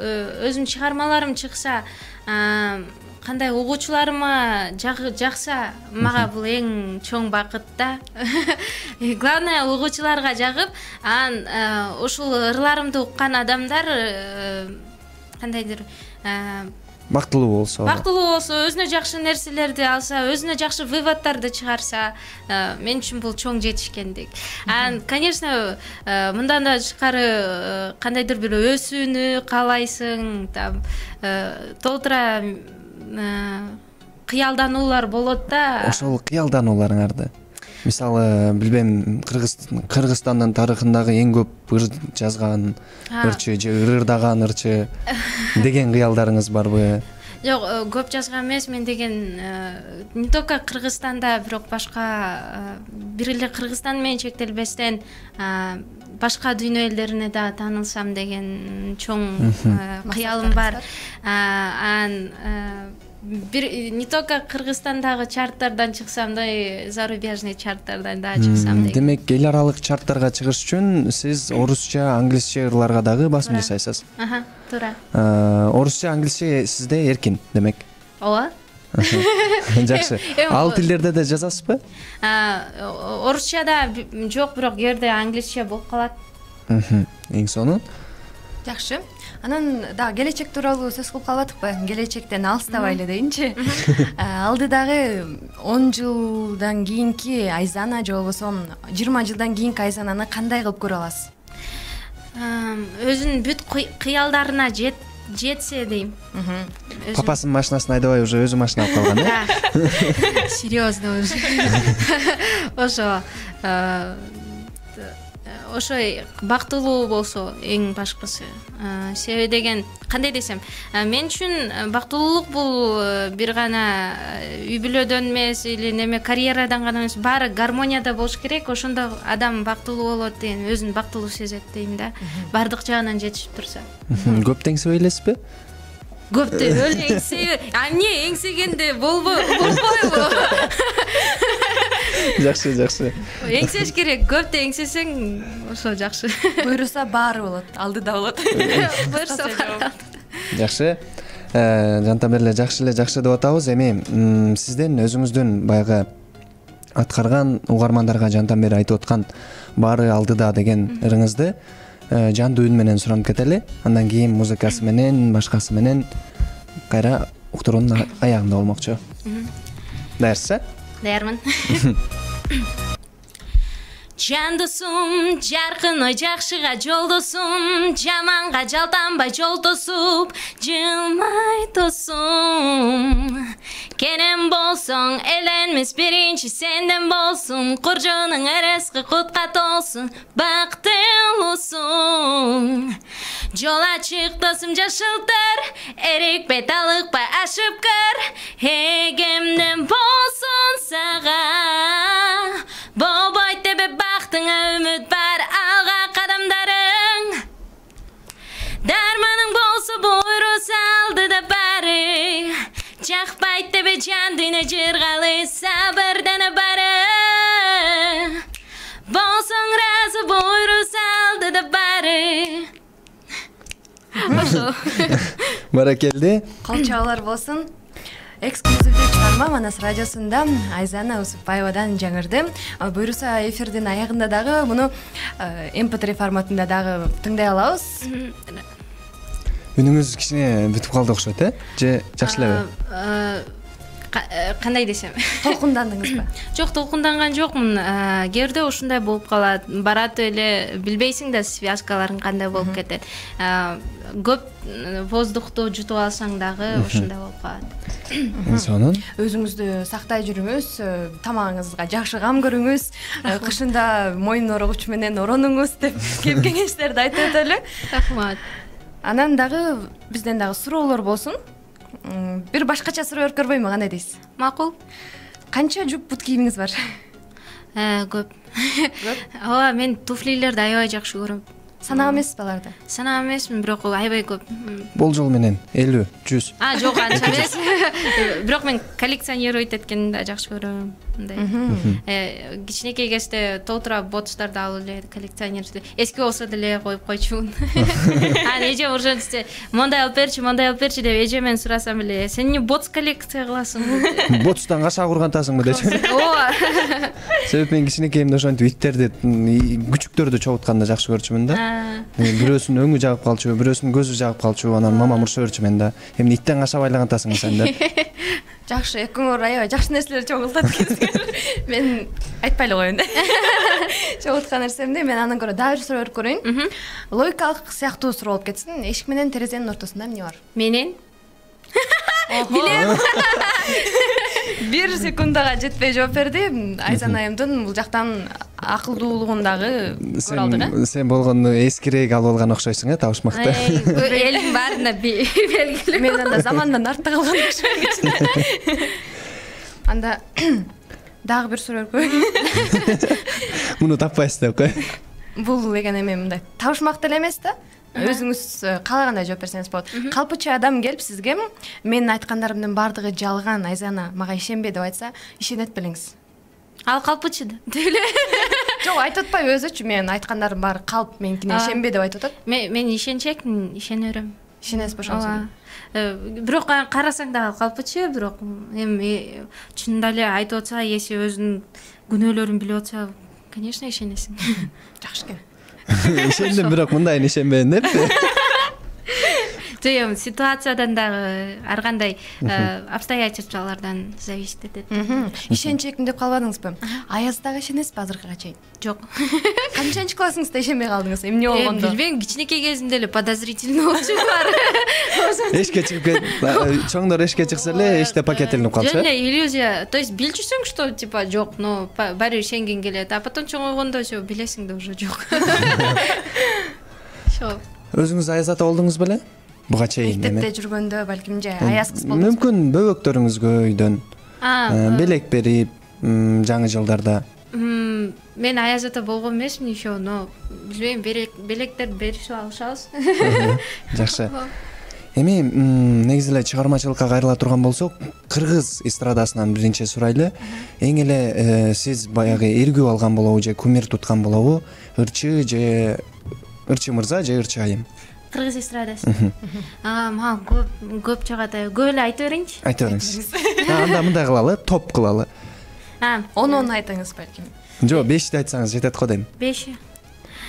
өзүм чыгармаларым чыкса, кандай угуучуларыма жакса, мага бул эң чоң бакыт да. Главное угуучуларга жагып, ошол ырларымды уккан адамдар кандайдыр бактылуу болсо, өзүнө жакшы нерселерди алса, өзүнө жакшы выводдорду чыгарса, мен үчүн бул чоң жетишкендик. Конечно, мындан да тышкары кандайдыр бир өсүүнү каалайсың, толтура кыялдануулар болот да. Ошол кыялданууларыңарды мисалы билбейм, Кыргызстандын тарыхындагы эң көп ыр жазган ырчы же ырдаган ырчы деген кыялдарыңыз барбы? Жок, көп жазган эмес мен деген, не только Кыргызстанда, бирок башка бир эле Кыргызстан менен чектелбестен башка дүйнө элдерине да таанылсам деген чоң кыялым бар. Бир не только Кыргызстандагы чарттардан чыксам да, зарубежный чарттардан да чыксам деген. Демек, эл аралык чарттарга чыгыш үчүн сиз орусча, англисче ырларга дагы басым жасайсыз. Туура. Орусча, англисче сизде эркин, демек. Ооба. Жакшы. Ал тилдерде да жазасызбы? Орусчада жок, бирок кээде англисче болуп калат. Эң сонун. Жакшы. Анан да келечек тууралуу сөз кылып калбадыкпы? Келечектен алыстабайлы дейинчи. Алдыдагы 10 жылдан кийинки Айзана же болбосо 20 жылдан кийинки Айзананы кандай кылып көрө аласыз? Өзүнүн бүт кыялдарына жетсе дейм. Папасынын машинасын айдабай уже өзү машина алып калган, э? Серьезно уже. Ошой бактылуу болсо эң башкысы. Себеби деген кандай десем, мен үчүн бактылуулук бул бир гана үй бүлөдөн эмес или неме карьерадан гана эмес, баары гармонияда болуш керек. Ошондо адам бактылуу болот деген, өзүн бактылуу сезет дейм да. Бардык жагынан жетишип турса. Көп теңсебей элесизби? Көптү өлө эмне эңсегенде болбойбу? Жакшы. Эңсеш керек, көптү эңсесең ошо жакшы. Буйруса баары болот, алдыда болот. Буйруса баары. Жакшы. Жантан бери эле жакшы деп атабыз. Эми сизден өзүңүздүн баягы аткарган угармандарга жантан бери айтып аткан баары алдыда деген ырыңызды жандуу үн менен суранып кетели, андан кийин музыкасы менен, башкасы менен кайра уктуруунун аягында болмокчу. Даярсыз? Даярмын. Жандысым, жаркын ой жакшыга жолдосум, жаманга жалтанбай жол тосуп, жылмай тосум. Кенен болсоң, эленмес биринчи сенден болсун, куржоонуң эреске кутка толсун, бактылуусуң. Жол ачык досум жашылтыр, эрикпей талыкпай ашып кыр, эгемден болсун сага. Болбойт деп бактыңа үмүт бар, алга кадамдарың. Дарманың болсо буйру салды да бары, жакпайт деп жан дүйнө жыргалы, сабырдана бары. Болсоң разы, буйру салды да бары. Ошо. Баракелди. Кол чабуулар болсун. Эксклюзивдүү чыгарма Манас радиосунда Айзана Усупбаевадан жаңырды. Буйруса эфирдин аягында дагы муну MP3 форматында дагы тыңдай алабыз. Үнүңүз кичине бүтүп калды окшойт, же жакшы элеби? Кандай десем? Толкундандыңызбы? Жок, толкунданган жокмун. Кээде ушундай болуп калат. Барат эле билбейсиң да связкаларың кандай болуп кетет. Көп воздухту жутуп алсаң дагы ушундай болуп калат. Сонун. Өзүңүздү сактай жүрүңүз, тамагыңызга жакшы кам көрүңүз, кышында мойын орогуч менен оронуңуз деп кеп кеңештерди айтып өтөлү. Рахмат. Анан дагы бизден дагы суроолор болсун. Бир башкача суроо өркөрбөймү, кандай дейсиз? Макул. Канча жуп бут кийимиңиз бар? Көп. Ооба, мен туфлилерди аябай жакшы көрөм. Санаа эмеспи аларды? Санаа эмесмин, бирок аябай көп. Болжол менен 50, 100. Жок, анча эмес. Бирок мен коллекционировать эткенди да жакшы көрөм. Мындай. Кичинекей кезде толтура ботуштарды алып эле коллекционировать. Эски болсо деле коюп койчумун. Эжем ошентсе, мондай алып берчи деп эжемен сурасам эле, сен эмне ботс коллекция кыласың? Ботустан кашаа кургантасыңбы дечи. Ооба. Себеп мен кичинекейимде ошентип иттерди, күчүктөрдү чогултканды жакшы көрчүмүн да. Бирөөсүнүн өңү жагып калчу, бирөөсүнүн көзү жагып калчу, анан мамам уруша берчү мен да. Эмне иттен кашап айлагантасың сен деп. Жакшы, экөөңөр аябай жакшы нерселер чогултат экенсиңер. Мен айтпай эле коеюн да. Чогулткан нерсемди мен андан көрө дагы бир суроо өрүп көрөйүн. Логикалык сыяктуу суроо болуп кетсин. Эшик менен терезенин ортосунда эмне бар? Менен Билем. 1 секундага жетпей жооп берди. Айзан айымдын бул жактан акылдуулугун дагы көрө алдык. Сен болгону эскирээк алып алган окшойсуң, таушмакты. Элдин баарына белгилүү. Мен анда замандан артта калган окшойм. Анда дагы бир суроо өркөйүн. Муну таппайсыз деп кой. Бул деген эме мындай табышмак эле эмес да. Өзүңүз каалагандай жооп берсеңиз болот. Калпычы адам келип сизге менин айткандарымдын баардыгы жалган, Айзана мага ишенбе деп айтса, ишенет белеңиз. Ал калпычы да. Деле. Жок, айтып атпайбы өзүчү, менин айткандарым баары калп, меникине ишенбе деп айтып атат. Мен ишенчекмин, ишене берем. Ишенесизби ошонусу? Бирок карасаң дагы калпычы, бирок эми чынында эле айтып атса, эси өзүнүн күнөөлөрүн билип атса, конечно, ишенесиң. Жакшы экен. Ишендим, бирок мындайын ишенбедим деппи. Эми ситуациядан дагы ар кандай обстоятельстволордон зависит этет. Ишенчекмин деп калбадыңызбы? Аяз дагы ишенесизби азыркыга чейин? Жок. Канчанчы классыңызда ишенбей калдыңыз? Эмне болгондо? Билбейм, кичинекей кезимде эле подозрительный болчу бар. Эшикке чыгып кет, чоңдор эшикке чыкса эле эшикте пакет илинип калчу. Жөн эле иллюзия. То есть билчүсүң, что типа жок, но баары ишенген келет, а потом чоңойгондо всё билесиң да уже жок. Шо. Өзүңүз аяз ата болдуңуз беле? Буга чейин эме. Мектепте жүргөндө балким же аяз кыз болдуңуз. Мүмкүн бөбөктөрүңүзгө өйдөн белек берип жаңы жылдарда. Мен аяз ата болгон эмесмин еще, но билбейм, белектер беришип алышабыз. Жакшы. Эми негизи эле чыгармачылыкка кайрыла турган болсок, кыргыз эстрадасынан биринчи сурайлы. Эң эле сиз баягы эргүү алган болобу же кумир туткан болобу? Ырчы мырза же ырчы айым? Кыргыз эстрадасы. Мага көп чыгат. Көп эле айтып берейинчи. Айтып бериңиз. Анда мындай кылалы, топ кылалы. 10 айтыңыз балким. Жок, 5 айтсаңыз жетет го дейм. 5.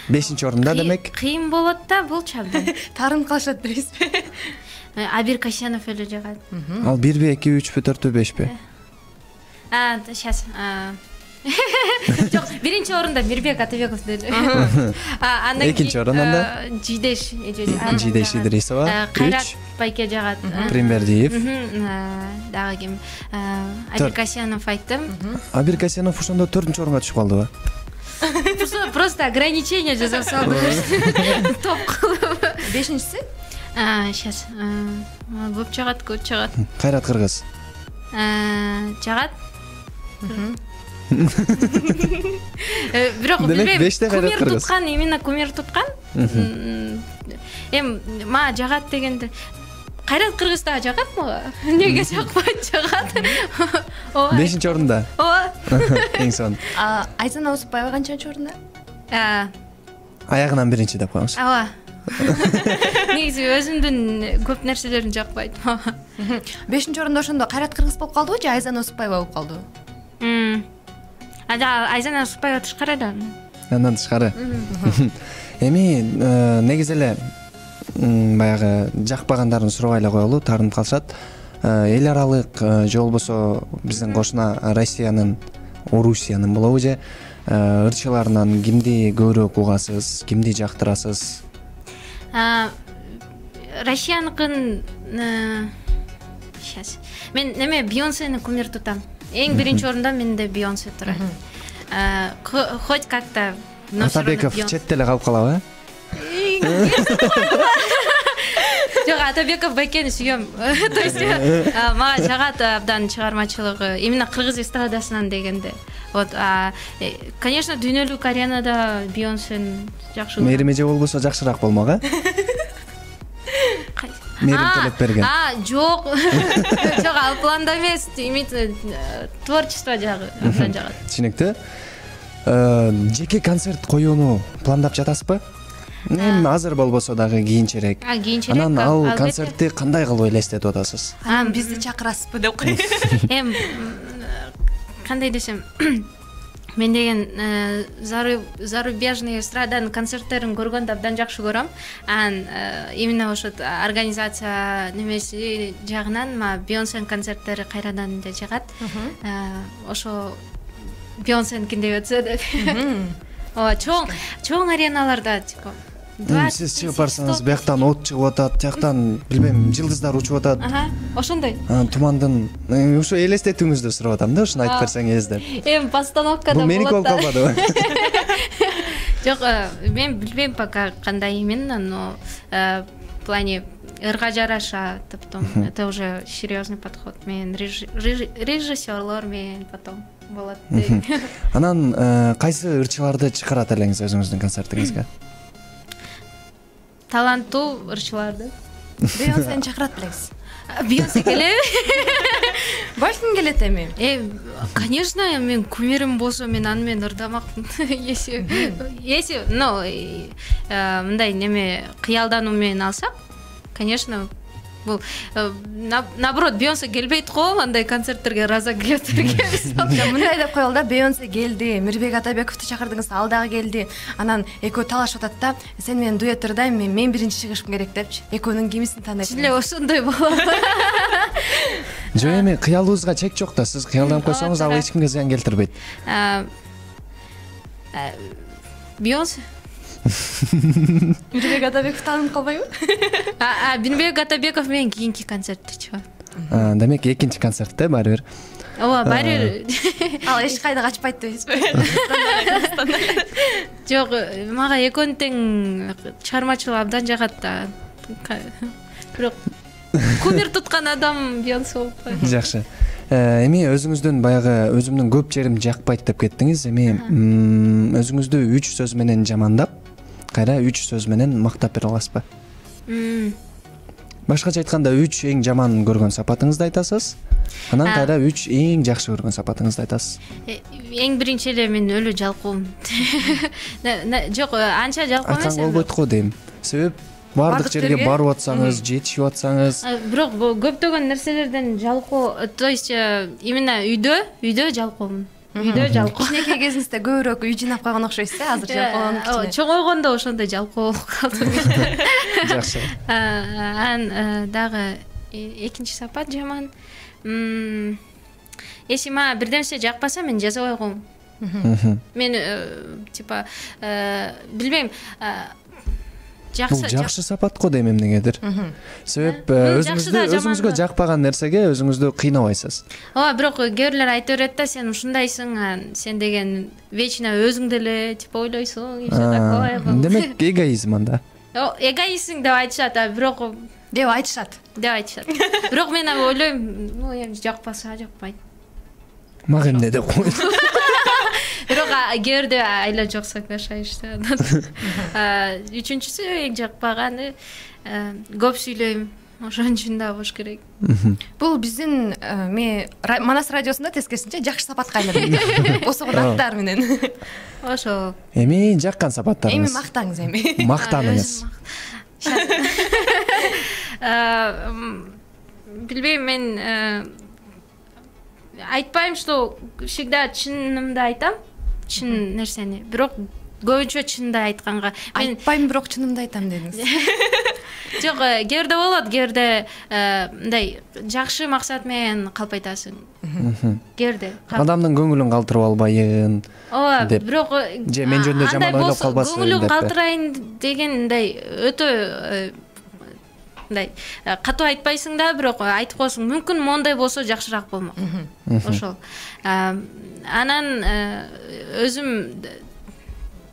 5-орунда демек. Кыйын болот да, болчу абдан. Таарынып калышат дейсизби? Абир Касьянов эле жагат. Ал 1би, 2, 3бү, 4бү, 5би? Сейчас. Жок, 1-орунда Мирбек Атабеков деле. Андан кийин 2-орунда Жидеш Идрисова, Кайрат Байке жагат. Примбердиев. Дагы ким? Абир Касьянов айттым. Абир Касьянов ошондо 4-орунга түшүп калдыбы? Просто ограничение жасап салды. Топ кылып. 5-си? Сейчас. Көп жагат. Кайрат Кыргыз. Жагат. Бирок билбейм. Кумир туткан, именно кумир туткан. Мага жагат дегенде Кайрат Кыргыз да жагат мага. Неге жакпайт, жагат. 5-орунда. Ооба. Эң сонун. Айзана Усупбаева канчанчы орунда? Аягынан 1 деп коюңуз. Ооба. Негизи өзүмдүн көп нерселерим жакпайт мага. 5-орунда ошондо Кайрат Кыргыз болуп калдыбы же Айзана Усупбаева болуп калдыбы? Айзана Усупбаева тышкары да. Андан тышкары. Эми негизи эле баягы жакпагандарын сурабай эле коелу, таарынып калышат. Эл аралык же болбосо биздин кошуна Россиянын, Орусиянын болобу же ырчыларынан кимди көбүрөөк угасыз, кимди жактырасыз? Россияныкын сейчас. Мен неме Бейонсени кумир тутам. Эң 1-орунда менде Бейонсе турат. Хоть как-то Атабеков четте эле калып калабы? Жок, Атабеков Байкени сүйөм. То есть мага жагат абдан чыгармачылыгы, именно кыргыз эстрадасынан дегенде. Вот, конечно, дүйнөлүк аренада Бейонсени жакшы көрөм. Мээрим эже болбосо жакшыраак болмок, Мээрим Төлөпберген. Жок. Жок, ал планда эмес, творчество жагы абдан жагат. Түшүнүктүү. Жеке концерт коюуну пландап жатасызбы? Эми азыр болбосо дагы кийинчерээк. Анан ал концертти кандай кылып элестетип атасыз? Бизди чакырасызбы деп коеюн. Кандай десем, мен деген зарубежный эстраданын концерттерин көргөндө абдан жакшы көрөм. Именно ошо организация немеси жагынан Бейонсенин концерттери кайрадан эле жагат. Ошо Бейонсеники деп өтсө деп. Чоң ареналарда типа Сиз чыгып барсаңыз, бияктан от чыгып атат, тияктан билбейм, жылдыздар учуп атат. Ошондой. Тумандын ушу элестетүүңүздү сурап атам да, ушуну айтып берсеңиз деп. Постановкада болот. Бул меники болуп калбадыбы? Жок, мен билбейм пока кандай именно, но в плане ырга жараша, потом это уже серьезный подход. Мен режиссерлор менен потом болот. Анан кайсы ырчыларды чакырат элеңиз өзүңүздүн концертиңизге? Таланттуу ырчыларды. Бейонсени чакырат белеңиз? Бейонсе келеби? Баш ким келет эми? Конечно, мен кумирим болсо мен аны менен ырдамакмын. Если, мындай неме кыялдануу менен алсак, конечно, бул наоборот Бейонсе келбейт го, андай концерттерге раза келетирге. Мындай деп коелу да, Бейонсе келди, Мирбек Атабековду чакырдыңыз, ал дагы келди. Анан экөө талашып атат да, сен менен дуэт ырдайм, мен биринчи чыгышым керек депчи. Экөөнүн кимисин тандайсың? Эле ошондой болот. Жок, эми кыялыбызга чек жок да, сиз кыялданып койсоңуз, ал эч кимге зыян келтирбейт. Бейонсе. Мирбек Атабеков таанып калбайбы? Мирбек Атабеков менен кийинки концертте чыгат. Демек экинчи концертте баары бир. Ооба, баары бир. Ал эч кайда качпайт дейсизби? Жок, мага экөөнүн тең чыгармачылыгы абдан жагат да. Бирок кумир туткан адам Бейонсе болуп калды. Жакшы. Эми өзүңүздүн баягы өзүмдүн көп жерим жакпайт деп кеттиңиз. Эми өзүңүздү 3 сөз менен жамандап, кайра 3 сөз менен мактап бере аласызбы? Башкача айтканда 3 эң жаман көргөн сапатыңызды айтасыз. Анан кайра 3 эң жакшы көргөн сапатыңызды айтасыз. Эң биринчи эле мен өлө жалкоом. Жок, анча жалкоо эмес. Айткан болбойт го дейм. Себеп бардык жерге барып атсаңыз, жетишип атсаңыз. Бирок көптөгөн нерселерден жалкоо, то есть именно үйдө жалкоомун. үйдө жалкоо. Кичинекей кезиңизде көбүрөөк үй жыйнап калган окшойсуз азыр жалкоо. Чоңойгондо ошондой жалкоо болуп калдым. Жакшы. Дагы экинчи сапат жаман. Если мага бир нерсе жакпаса, мен жазбай коем. Мен типа билбейм, бул жакшы сапат го дейм эмнегедир. Себеп өзүңүзгө жакпаган нерсеге өзүңүздү кыйнабайсыз. Ооба, бирок кээ бирлер айта берет да, сен ушундайсың, сен деген вечно өзүңдү эле типа ойлойсуң, и все такое. Демек эгоизм анда. Эгоистсиң деп айтышат, бирок деп айтышат. Бирок мен ойлойм, эми жакпаса жакпайт. Мага эмне деп койду. Бирок кээ айла жок соглашаешься. Үчүнчүсү эң жакпаганы көп сүйлөйм. Ошон үчүн да болуш керек. Бул биздин Манас радиосунда тескерисинче жакшы сапатка айланды. Босогон аттар менен. Ошо. Эми жаккан сапаттарыңыз. Эми мактаңыз эми. Мактаныңыз. Билбейм, мен айтпайм, что всегда чынымды айтам, чын нерсени. Бирок көбүнчө чынды айтканга айтпайм, бирок чынымды айтам дедиңиз. Жок, кээде болот, кээде мындай жакшы максат менен калп айтасың. Кээде адамдын көңүлүн калтырып албайын. Ооба, бирок же мен жөнүндө жаман ойлоп калбасын деп. Көңүлүн калтырайын деген мындай өтө мындай катуу айтпайсың да, бирок айтып коесуң. Мүмкүн моундай болсо жакшыраак болмок. Ошол. Анан өзүм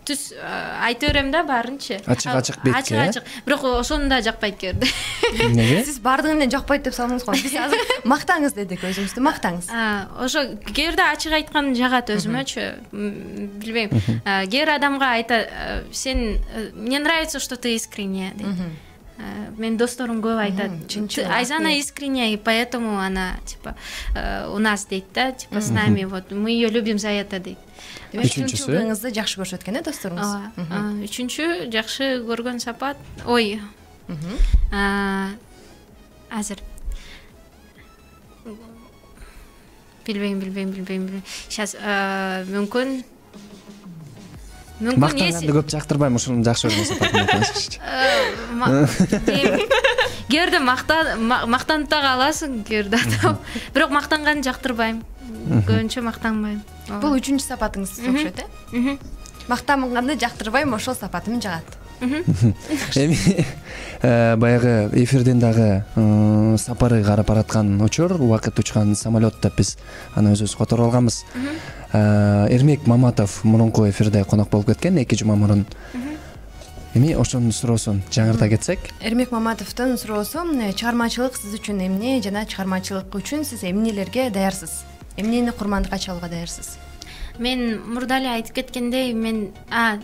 түз айта берем да баарынчы. Ачык бетке. Ачык. Бирок ошону да жакпайт кээде. Эмнеге? Сиз баардыгын эле жакпайт деп салдыңыз го. Биз азыр мактаңыз дедик, өзүңүздү мактаңыз. Ошо кээде ачык айткан жагат өзүмөчү. Билбейм. Кээ адамга айта, сен мне нравится, что ты искренняя дейт. Мен досторум көп айтат. Айзана искренняя, и поэтому она типа у нас дейт да, типа с нами, вот мы ее любим за это дейт. Үчүнчүсү жакшы көрүшөт экен досторуңуз. Үчүнчү жакшы көргөн сапат. Ой. Азыр. Билбейм. Сейчас мүмкүн мактанганды көп жактырбайм, ушуну жакшы көргөн сапатым экен. Кээде мактанып да каласың, кээде адам. Бирок мактанганды жактырбайм. Көбүнчө мактанбайм. Бул үчүнчү сапатыңыз окшойт, э? Мактанганды жактырбайм, ошол сапатым жагат. Эми баягы эфирден дагы сапары карап бараткан учур, убакыт учкан самолет деп биз аны өзүбүз которуп алганбыз. Эрмек Маматов мурунку эфирде конок болуп кеткен 2 жума мурун. Эми ошонун суроосун жаңырта кетсек. Эрмек Маматовдун суроосу, чыгармачылык сиз үчүн эмне жана чыгармачылык үчүн сиз эмнелерге даярсыз? Эмнени курмандыкка чалууга даярсыз? Мен мурда эле айтып кеткендей, мен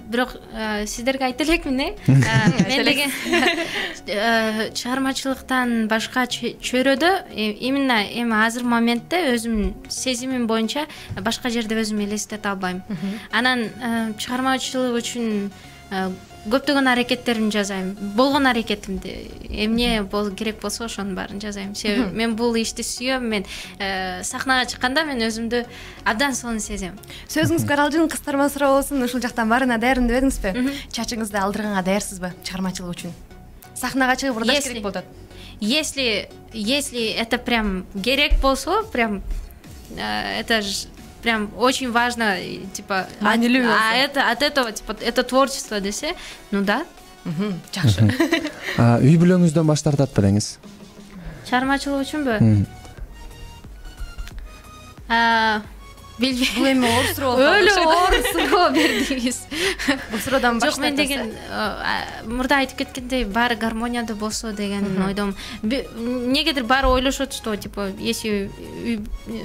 бирок сиздерге айта элекмин, мен деген чыгармачылыктан башка чөйрөдө именно эми азыр моментте өзүмдүн сезимим боюнча башка жерде өзүмдү элестете албайм. Анан чыгармачылык үчүн көптөгөн аракеттеримди жасайм. Болгон аракетимди эмне керек болсо ошонун баарын жасайм. Себеби мен бул ишти сүйөм. Мен сахнага чыкканда мен өзүмдү абдан сонун сезем. Сөзүңүзгө аралжын кыстырма суроо болсун. Ушул жактан баарына даярмын дебедиңизби? Чачыңызды алдырганга даярсызбы чыгармачылык үчүн? Сахнага чыгып ырдаш керек болот. Если это прям керек болсо, прям это прям очень важно, типа, от этого, типа, это творчество десе, ну да. Жакшы. Үй бүлөңүздөн баш тартат белеңиз? Чыгармачылык үчүнбү? Билбейм. Бул эми оор суроо. Өлө оор суроо бердиңиз. Бул суроодан баш тартасыз. Жок, мен деген мурда айтып кеткендей, баары гармонияда болсо деген ойдом. Негедир баары ойлошот, что типа если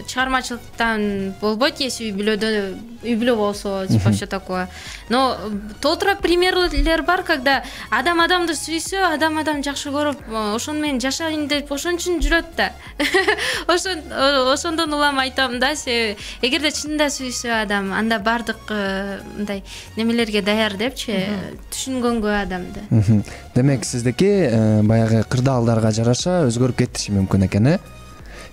чыгармачылыктан болбойт, если үй бүлө болсо, типа все такое. Но толтура примерлер бар, когда адам адамды сүйсө, адам жакшы көрүп, ошону менен жашайын деп ошон үчүн жүрөт да. Ошондон улам айтам да, эгерде чынында сүйсө адам, анда бардык мындай немелерге даяр депчи, түшүнгөнгө адамды. Демек сиздики баягы кырдаалдарга жараша өзгөрүп кетиши мүмкүн экен, э?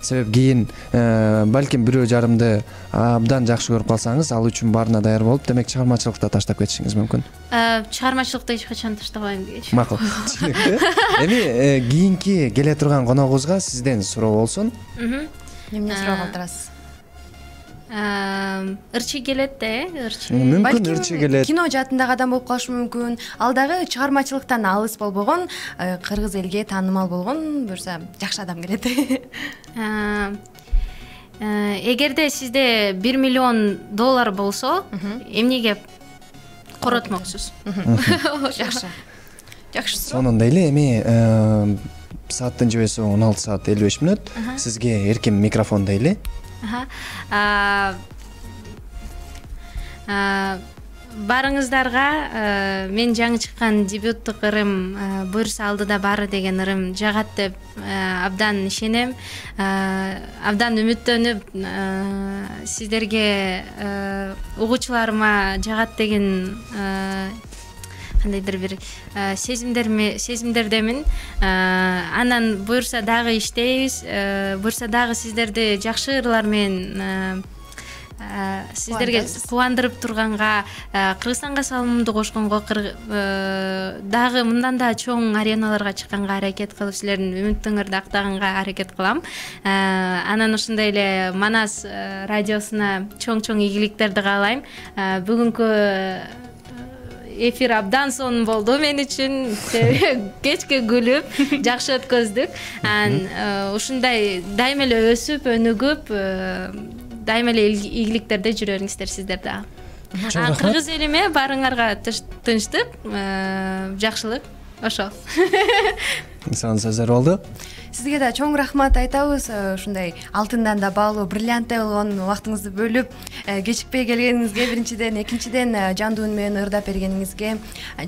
себеп кийин балким бирөө жарымды абдан жакшы көрүп калсаңыз ал үчүн баарына даяр болуп, демек чыгармачылыкты таштап кетишиңиз мүмкүн. Чыгармачылыкты эч качан таштабайм дегичи. Макул. Эми кийинки келе турган коногубузга сизден суроо болсун. Эмне суроо калтырасыз? Ырчы келет да, ырчы. Мүмкүн ырчы келет. Кино жаатындагы адам болуп калышы мүмкүн. Ал дагы чыгармачылыктан алыс болбогон, кыргыз элге таанымал болгон буюрса жакшы адам келет. Эгерде сизде $1 миллион болсо, эмнеге коротмоксуз? Жакшы. Жакшы суроо. Сонунда эле эми сааттын жебеси 16 саат 55 мүнөт. Сизге эркин микрофон дейли. Барыңыздарга мен жаңы чыккан дебюттук ырым буюрса алдыда баары деген ырым жагат деп абдан ишенем, абдан үмүттөнүп сиздерге угуучуларыма жагат деген кандайдыр бир сезимдердемин. Анан буюрса дагы иштейбиз, буюрса дагы сиздерди жакшы ырлар менен сиздерге кубандырып турганга, Кыргызстанга салымымды кошконго, дагы мындан да чоң ареналарга чыкканга аракет кылып, силердин үмүтүңөрдү актаганга аракет кылам. Анан ошондой эле Манас радиосуна чоң ийгиликтерди каалайм. Бүгүнкү эфир абдан сонун болду мен үчүн. Кечке күлүп, жакшы өткөздүк. Ушундай дайыма эле өсүп, өнүгүп, дайыма эле ийгиликтерде жүрө бериңиздер сиздер дагы. Кыргыз элиме баарыңарга тынчтык, жакшылык. Ошол. Сонун сөздөр болду. Сизге да чоң рахмат айтабыз. Ушундай алтындан да баалуу, бриллианттай болгон убактыңызды бөлүп, кечикпей келгениңизге биринчиден, экинчиден жандуу үн менен ырдап бергениңизге,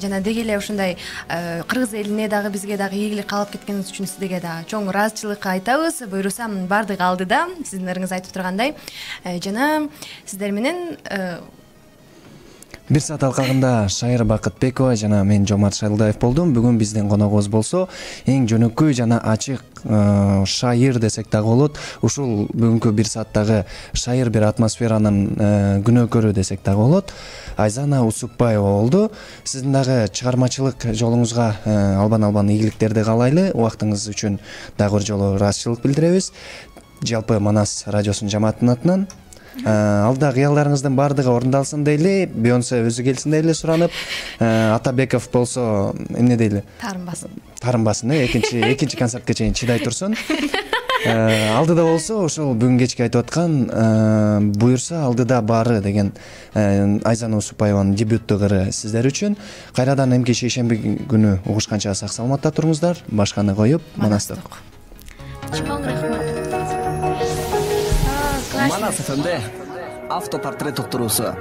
жана деги эле ушундай кыргыз элине дагы бизге дагы ийгилик каалап кеткениңиз үчүн сизге дагы чоң ыраазычылык айтабыз. Буюрса баардыгы алдыда, сиздин ырыңыз айтып тургандай. Жана сиздер менен Бир саат алкагында Шайыр Бакытбекова жана мен Жомарт Шайлдаев болдум. Бүгүн биздин коногубуз болсо эң жөнөкөй жана ачык шайыр десек дагы болот. Ушул бүгүнкү бир сааттагы шайыр бир атмосферанын күнөөкөрү десек дагы болот. Айзана Усупбаева болду. Сиздин дагы чыгармачылык жолуңузга албан ийгиликтерди каалайлы. Убактыңыз үчүн дагы бир жолу ыраазычылык билдиребиз. Жалпы Манас радиосунун жамаатынын атынан. Алда кыялдарыңыздын баардыгы орундалсын дейли, Бейонсе өзү келсин дейли суранып, Атабеков болсо эмне дейли? Тарынбасын, экинчи концертке чейин чыдай турсун. Алдыда болсо ошол бүгүн кечки айтып аткан буюрса алдыда баары деген Айзана Усупбаеванын дебюттук ыры сиздер үчүн. Кайрадан эмки шейшемби күнү угушканча сак саламатта туруңуздар. Башканы коюп, Манастык. Чоң рахмат. Манас ФМде автопортрет уктуруусу.